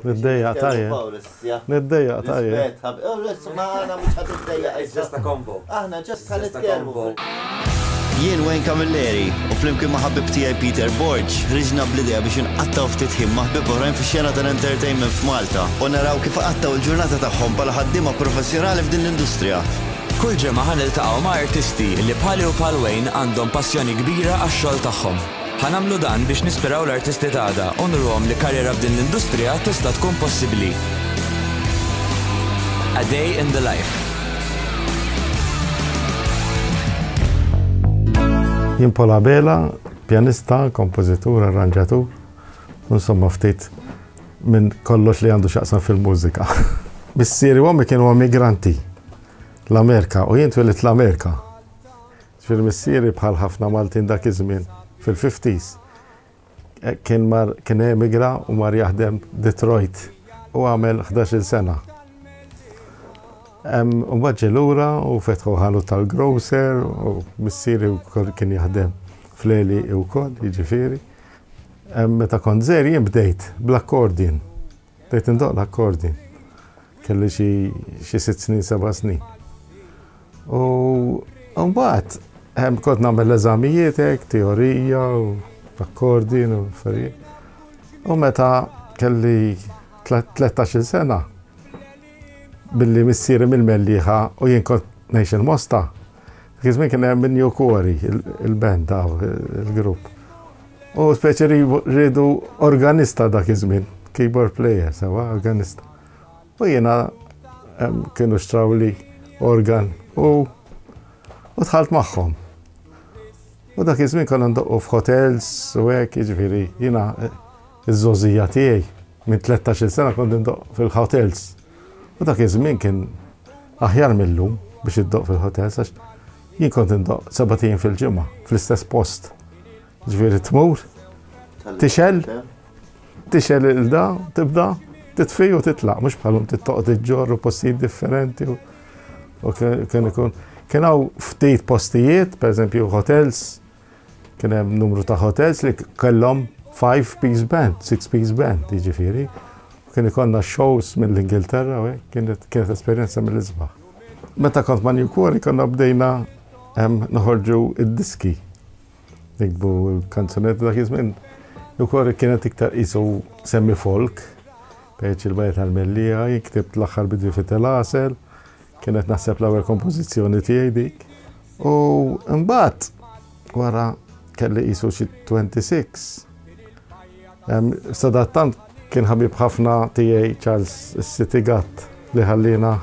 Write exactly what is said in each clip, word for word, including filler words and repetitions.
Niddejjaq tajjeb. Niddejjaq tajjeb. Ma aħna mhux ħa tiddejjaq. It's just a convo. Aħna just ħa Just a nitkellmu. convo. Jien Wayne Camilleri u flimkien ma' ħabib tiegħi Peter Borg ħriġna bl-idea biex inqattaw ftit ħin ma' ħbieb oħrajn fix-xena tal-entertainment f'Malta u naraw kif qattaw il-ġurnata tagħhom bħala ħaddiema professjonali f'din l-industrija. Kull ġimgħa ħa niltaqgħu ma' artisti li bħali u bħal Wayne għandhom passjoni kbira għax-xogħol tagħhom. Ħa nagħmlu dan biex nispiraw l-artisti t'għada u nuruhom li karriera f'din l-industrija tista' tkun possibbli. A Day in the Life. Jien Paul Abela, pjanista, kompożitur, arranġatur, insomma ftit minn kollox li għandu x'jaqsam fil-mużika. Missieri u ommi kienu immigranti l-Amerika u jien twelidt l-Amerika. Ġifieri missieri, bħal ħafna Maltin dak iż-żmien fil-fifties, kien mar kien emigra u mar jaħdem Detroit u għamel ħdax-il sena. U mbagħad ġie lura u fetħu ħanut tal-grocer u missieri wkoll kien jaħdem fl-għelieqi wkoll, jiġifieri. Meta kont żgħir jien bdejt bl-accordion. Bdejt indoq l-accordion. Kelli xi sitt snin, seba' snin. U mbagħad kont nagħmel l-eżamijiet hekk, teorija u accordion u affarijiet. U meta kelli tlettax-il sena, billi missieri mill-Mellieħa u jien kont ngħix il-Mosta, dak iż-żmien kien hemm New Quarry, il-band daw, il-grupp. U speċi rridu organista dak iż-żmien, keyboard player, sewa, organista. U jiena kienu xtrawli organ u u dħalt magħhom. U dak iż-żmien konna ndoqqu f'hotels u hekk, jiġifieri jiena iż-żgħożija tiegħi minn tlettax-il sena kont ndoqq fil-hotels. U dak iż-żmien kien aħjar mill-lum biex iddoq fil-hotels, għax jien kont indoq sebat ijiem fil-ġimgħa fl-istess post. Ġifieri tmur, tixgħel, tixgħel il-da, tibda, titfi u titlaq, mhux bħalhom tittoqgħod iġġorr u postijiet differenti u kien ikun. Kien hawn ftit postijiet, pereżempju hotels, kien hemm numru ta' hotels li kellhom five piece band, six piece band, jiġifieri. Kien ikollna shows mill-Ingilterra, u hekk, kienet, kienet esperjenza mill-isbaħ. Meta kont ma' New Quarry konna bdejna noħorġu id-diski. Nikbu l-kanzunetti dak iż-żmien. New Quarry kienet iktar qisu semi-folk, peċ il-bajt tal-Mellieħa, jien ktibt l-aħħar bidwi fit-Telasel, kienet naħseb l-ewwel kompożizzjoni tiegħi dik. U mbagħad wara kelli qisu xi twenty-six. Sadattant kien ħabib ħafna tiegħi Charles City Gatt li ħallina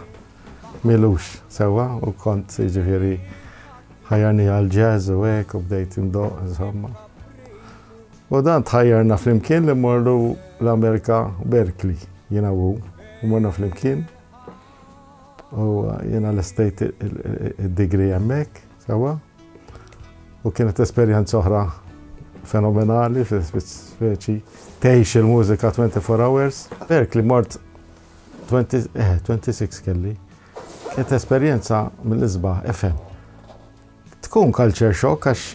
milux sewwa u kont jiġifieri ħajjarni għal jazz u hekk u bdejt indoq insomma. U dan tħajjarna flimkien li mmorru l-Amerika Berkeley, jiena u u morna flimkien. U jiena l-estate id-degree hemmhekk sewwa. U kienet esperjenza oħra fenomenali, speċi tgħix il-mużika twenty-four hours. Berkeley mort twenty, eh, twenty-six kelli. Kienet esperjenza mill-isbaħ, F M. Tkun culture shock għax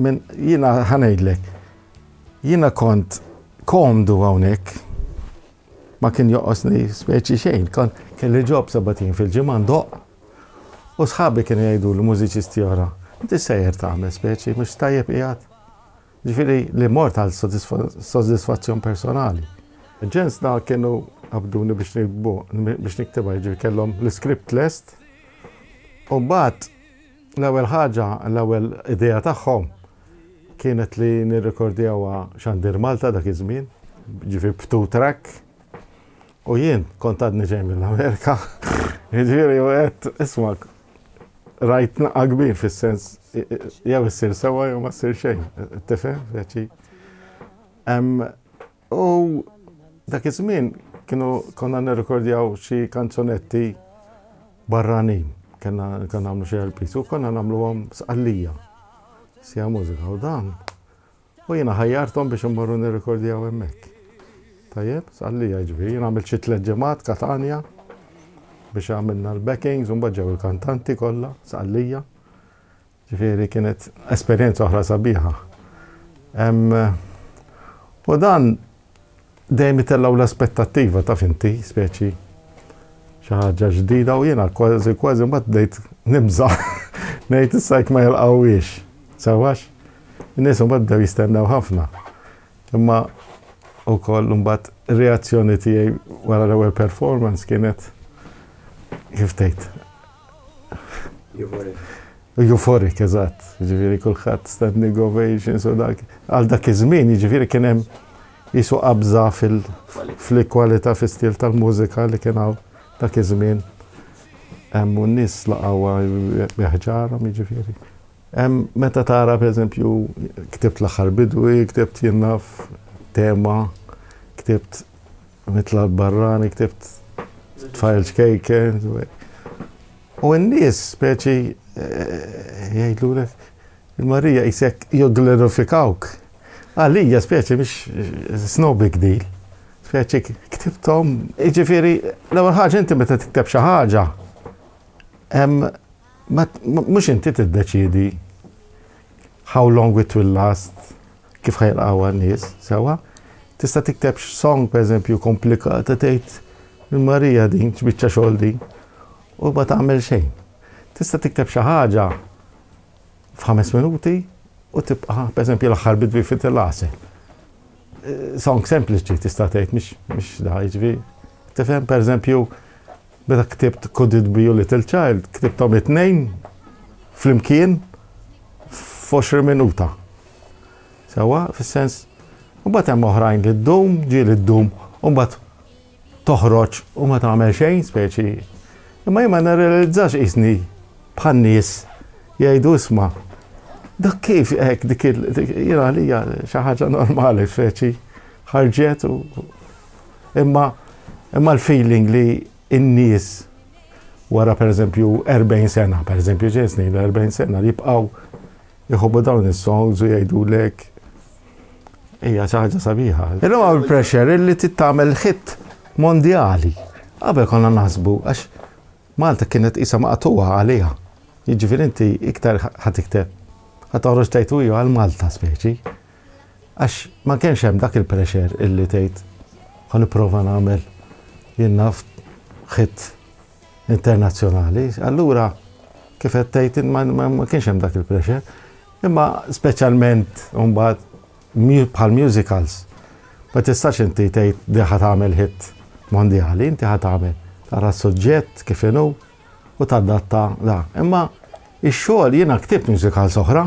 minn jiena ħa ngħidlek, jiena kont komdu hawnhekk, ma kien joqosni speċi xejn, kont kelli job sebat ijiem fil-ġimgħa ndoqq. U sħabi kienu jgħidu l-mużiċisti oħra, inti sejjer tagħmel speċi, mhux tajjeb qiegħed. Ġifieri li mort għal soddisfazzjon personali. Ġens da kienu qabduni biex nikbu, biex niktiba, ġifieri kellhom l-script lest. U mbagħad l-ewwel ħaġa, l-ewwel idea tagħhom kienet li nirrekordjawha Xandir Malta dak iż-żmien, ġifieri b'two track. U jien kont għadni ġej mill-Amerika. Ġifieri u għedt, isma', rajt naqqa kbir fis-sens, jew issir sewwa jew ma ssir xejn, tifhem, veċi. U dak iż-żmien kienu konna nirrekordjaw xi kanzunetti barranin, konna nagħmlu xi L Ps u konna nagħmluhom Sqallija, sija mużika u dan. U jiena ħajjarthom biex immorru nirrekordjaw hemmhekk. Tajjeb, Sqallija ġifieri, jien għamilt xi tliet ġimgħat Katanja biex għamilna l-backings u mbagħad ġew il-kantanti kollha Sqallija. Ġifieri kienet esperjenza oħra sabiħa. U dan Dejjem itellaw l-aspettattiva, taf inti, speċi xi ħaġa ġdida, u jiena kważi kważi mbagħad bdejt nibża', ngħid issa jekk ma jilqgħuhiex. Sewwa, in-nies mbagħad bdew jistennew ħafna. Imma ukoll mbagħad ir-reazzjoni tiegħi wara l-ewwel performance kienet, kif tgħid? Euphoric. Euphoric, eżatt. Jiġifieri kulħadd standing ovations u dak. Għal dak iż-żmien, jiġifieri, kien hemm jisu qabża fil-kwalità, fis-stil tal-mużika li kien hawn dak iż-żmien. Hemm u n-nies laqgħuha bi ħġarhom, jiġifieri. Hemm meta tara, pereżempju, ktibt L-Aħħar Bidwi, ktibt, jien naf, tema, ktibt Mitla Barrani, ktibt Tfajl Ċkejken. U n-nies speċi eh, jgħidulek il-Marija jisek jogglorifikawk. Għalija speċi mhix, it's no big deal. Speċi ktibthom, jiġifieri, l-ewwel ħaġa, inti meta tikteb xi ħaġa, mhux inti tiddeċidi how long it will last, kif ħa jilqgħuha n-nies, sewwa. Tista' tikteb song, per eżempju, komplikata, tgħid il-Marija din, x'biċċa xogħol din, u ma tagħmel xejn. Tista' tikteb xi ħaġa f'ħames minuti u tibqa', per eżempju, L-Aħħar Bidwi fit il-għasel. Song sempliċi, tista' tgħid mhix mhix da, jiġifieri. Tifhem, per eżempju, meta ktibt Could It Be You Little Child, ktibthom it-tnejn flimkien f'għoxrin minuta. Sewwa, fis-sens, u mbagħad hemm oħrajn li ddum, ġieli ddum, u mbagħad toħroġ u ma tagħmel xejn, speċi. Imma jien ma nirrealizzax qisni bħan-nies jgħidu, "Isma', dak kif hekk dik il", jiena għalija xi ħaġa normali, speċi ħarġet u imma imma l-feeling li n-nies wara, per eżempju, erbgħin sena, per eżempju, ġej snin, erbgħin sena, li jibqgħu jħobbu dawn is-songs u jgħidulek, hija xi ħaġa sabiħa. Illum hawn il-pressure illi tagħmel hit mondjali. Qabel konna naħsbu għax Malta kienet isa maqtuha għaliha. Jiġifieri inti iktar ħa tikteb, ħa toħroġ tgħid hu għal Malta, speċi. Għax ma kienx hemm dak il-pressure illi tgħid ħa nipprova nagħmel, jien naf, hit internazzjonali. Allura kif qed tgħid, ma, ma, ma kienx hemm dak il-pressure. Imma speċjalment mbagħad bħal musicals. Ma tistax inti tgħid di ħa tagħmel hit mondjali, inti ħa tagħmel, tara s-suġġett kif inhu u tadatta da. Imma ix-xogħol, jiena ktibt musicals oħra,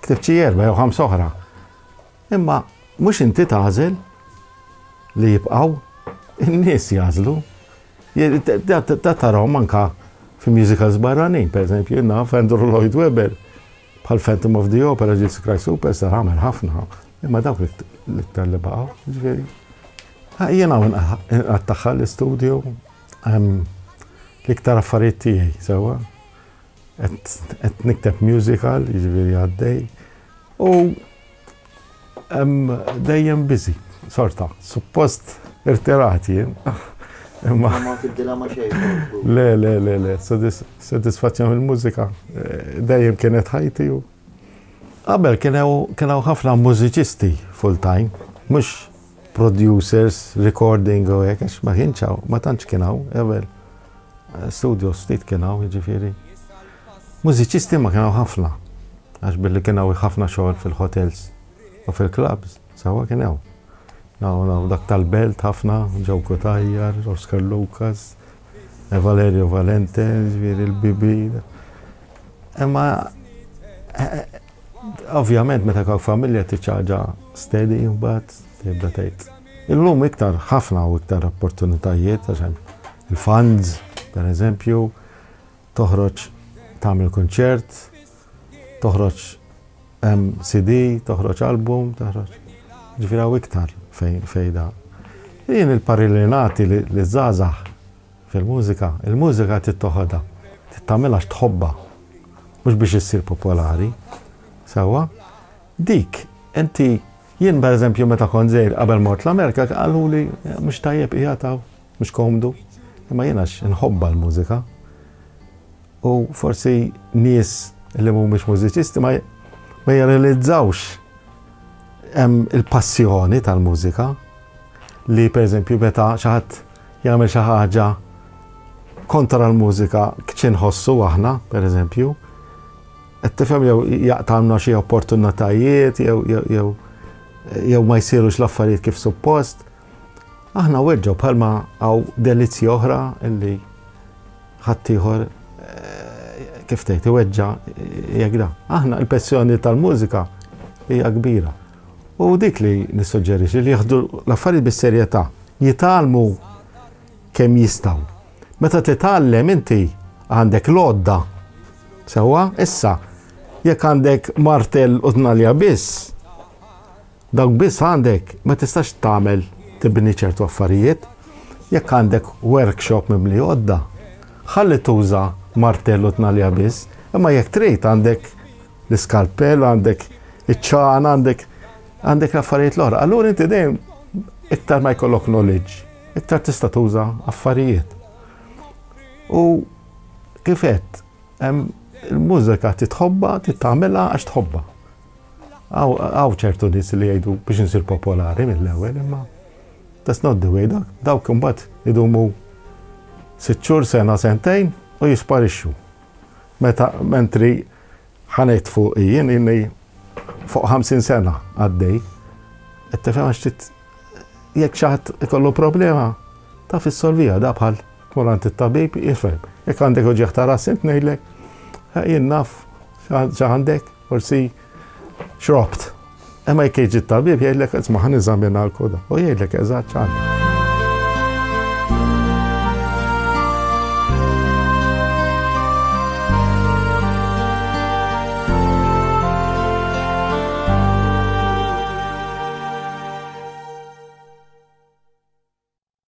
ktibt xi erba' jew ħamsa oħra. Imma mhux inti tagħżel li jibqgħu, in-nies jagħżlu. Da tarahom anka fi musicals barranin, per eżempju, naf Andrew Lloyd Webber, bħal Phantom of the Opera, Jesus Christ Superstar, għamel ħafna, imma dawk l-iktar li baqgħu, ġifieri. Jiena nqattagħha l-istudio, l-iktar affarijiet tiegħi, sewwa. Qed nikteb musical, jiġifieri għaddej. U dejjem busy, sorta, suppost irtirat jien. Imma ma tibdilha ma xejn. Le, le, le, le, sodisfazzjon il-mużika eh, dejjem kienet ħajti u qabel kien hawn ħafna mużiċisti full time, mhux producers, recording u hekk, għax ma kienx hawn, ma tantx kien hawn, qabel studio ftit kien hawn, jiġifieri. Mużiċisti ma kien hawn ħafna, għax billi kien hawn ħafna xogħol fil-hotels u fil-clubs, sewwa, kien hawn. Naw, naw, dak tal-Belt ħafna, Joe Cutajar, Oscar Lucas, Valerio Valente, ġifieri l-Bibi. Imma, eh, ovvjament, meta ikollok familja tiċċaġa steady, mbagħad tibda tgħid. Illum iktar ħafna u iktar opportunitajiet, għax il-funds, per eżempju, toħroġ tagħmel konċert, toħroġ C D, toħroġ album, toħroġ. Ġifieri hawn iktar fejn fejda. Jien il-parir li nagħti liż-żgħażagħ fil-mużika, il-mużika tittoħodha, tittamilha tħobbha, mhux biex issir popolari. Sewwa, dik, inti, jien per eżempju meta kont żgħir qabel mort l-Amerika, qalu li mhux tajjeb qiegħed hawn, mhux komdu. Imma jiena nħobbha l-mużika. U forsi nies li mhumiex mużiċisti ma ma jirrealizzawx hemm il-passjoni tal-mużika. Li per eżempju meta xi ħadd jagħmel xi ħaġa kontra l-mużika x'inħossu aħna, per eżempju, qed tifhem, jew jaqtgħulna xi opportunitajiet jew jew jew ma jsirux l-affarijiet kif suppost. Aħna weġġgħu bħalma hawn delizzji oħra illi ħaddieħor eh, kif tgħid iweġġa' jekk da. Aħna l-passjoni tal-mużika hija kbira. U dik li nissuġġerixxi li jieħdu l-affarijiet bis-serjetà, jitgħallmu kemm jistgħu. Meta titgħallem inti għandek l-għodda. Sewwa, issa, jekk għandek martell u tnalja biss, dawk biss għandek, ma tistax tagħmel tibni ċertu affarijiet. Jekk għandek workshop mimli għodda, ħalli tuża martell u tnalja biss, imma jekk trid għandek l-iskalpell, għandek iċ-ċana, għandek għandek l-affarijiet l-oħra. Allura inti dejjem iktar ma jkollok knowledge, iktar tista' tuża affarijiet. U kif għedt, il-mużika titħobba, titgħamilha għax tħobba. Hawn ċertu nies li jgħidu biex insir popolari mill-ewwel, imma that's not the way. Dak dawk imbagħad idumu sitt xhur, sena, sentejn u jisparixxu. Meta mentri ħa ngħid fuq jien inni fuq ħamsin sena għaddej, qed tifhem, għax jekk xi ħadd ikollu problema taf issolviha, da bħal tmur għand it-tabib jifhem. Jekk għandek uġigħ ta' ras int ngħidlek, jien naf x'għandek, forsi xrobt. Imma jekk jiġi t-tabib jgħidlek, "Isma', ħa neżamina l-koda." U jgħidlek eżatt x'għandek.